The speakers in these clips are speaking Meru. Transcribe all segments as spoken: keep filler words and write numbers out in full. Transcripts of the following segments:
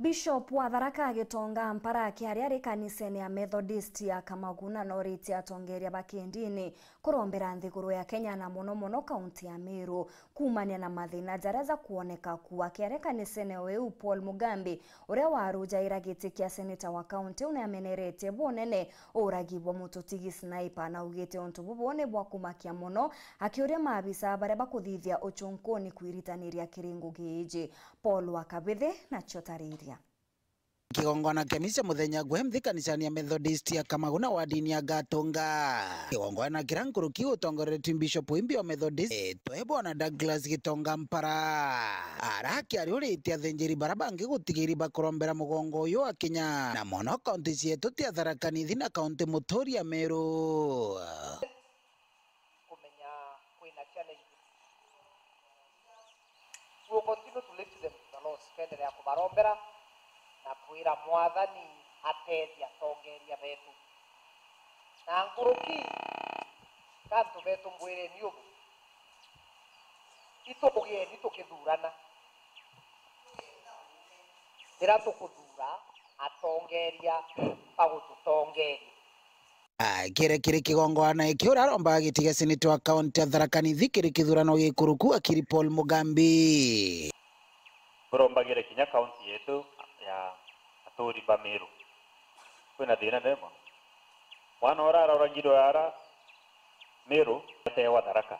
Bishop wa Tharaka Gitonga Mpara akiaria ari kanisene ya Methodist ya Kamaguna noritie atongeria ba kindini kurombera nthiguru ya Kenya na mono mono kaunti ya Meru kuumania na mathina jaria jakuoneka ku. Akiaria kanisene iu, Paul Mugambi, uria warujaira giti kia seneta wa kaunti iu, niameneretie bunene uragi bwa mututigi Sniper, na augite untu bubu ni bwa kumakia mono, akiuria maabisa baria bakuthithia uchunkuni kwiritaniria kiri ngugi iji. Paul wa Kabithi nacio tariria. Kigongona kia misa muthenya gwe nthi kanisani ya Methodist ya Kamaguna wadini ya Gatunga. Kigongona kiria nkuruki utongoretwe Bishop Imbi wa Methodist, etwe bwana Douglas Gitonga Mpara. Ara akiari uritie athinjiri bara bangi gutigiri bakurombera mugongo uyu wa Kenya, na mono kaunti cietu tia Tharaka Nithi na kaunti muturia Meru. Kumenya kwina challenge. We will continue to lift them to the Lord. Tukendelea kubarombera na kwira Mwathani atethia atongeria betu. Na nkuruki, kantu betu mbwireni ubu, itugieni tukithurana. Rira tukuthuura atongeeria bagututongeeria. Akire kiri kigongwana iki, uria arombaga giti gia seneta wa kaunti ya Tharaka Nithi kiri kithurano gikuruku, akiri Paul Mugambi. Turombagire kinya kaunti yetu ya aturi ba Meru. Kwina thina ndemo. Mwana uria aroragirwe ara Meru atewa Tharaka.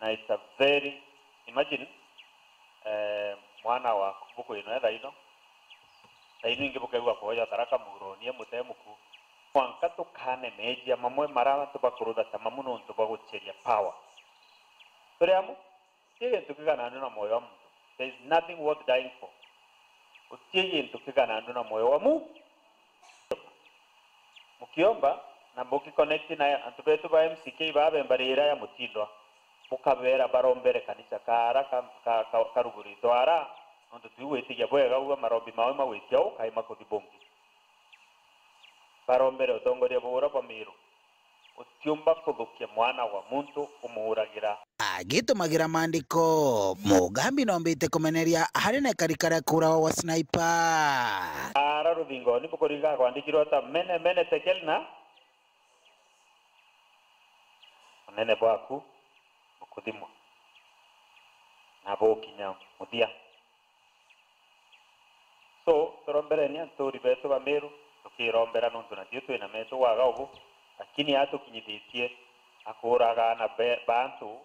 Na it's a very, imagine, eh, mwana waku bukwinwe thaino, thaino ingi bukegua kwoja Tharaka muronie mute muku. Mwanka tukane meejia mamwe mara antu bakurutha ta mamu nontu bwa gucheria power. Turi amu? Ti gintu kiganandu na moyo wa muntu. There is nothing worth dying for. Guti gintu kiganandu na moyo wa mu-, mukiomba na muki connect na antu betu ba M C K ba bemba rira ya mutindwa, mukabera barombere kanisa kaara ka, ka, ka, karuguritwe ara, nontu twi gwitigia bwega ugwe marombi mawe magwitia u kai makuthi bungi. Barombere utongoria bura bwa Miru. Utiumba kuthukia mwana wa muntu umuuragira. Agitumagira maandiko, Mugambi noombite kumeneria hari na ikarika ria kuuragwa gwa Sniper. Ara ruthingo ni bukuriga kwandikirwe ata, mene, mene, tekel na unene bwaku bukuthimwa na bukinya muthia. So, turombereni anturi betu ba Miru, tukirombera nontu natio twina metu waga ubu, lakini atukinyithitie akuuraga aana be-, ba antu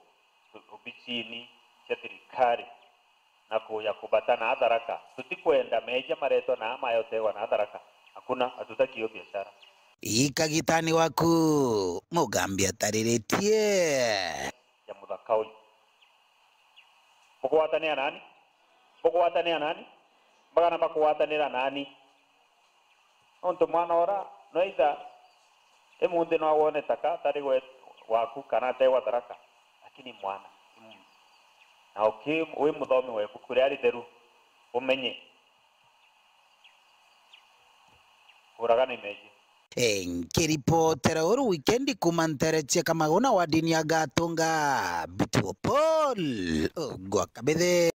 obisini cia thirikari na kuja kubata na Tharaka. Tutikwenda meejia maretwa na ama yotegwa na Tharaka. Hakuna, hatutaki hiyo biashara. Ikagitani waku, Mugambi atariritie. Ya muthaka uyu. Bukugwatanira nani? Bukugwatanira nani? Bagana bakugwatanira nani? Nontu mwana ora, no either imunthi no awone taka atari gwe-, gwaku kana ategwa Tharaka, lakini mwana, mm. Na uki-, wi muthomi wa ibuku riria ritheru, umenye. Kuuragana imeji. E, nkiripotera uru wikendi kuuma ntere cia Kamaguna wadini ya Gatunga, Bituo Paul, Ogwa Kabithe.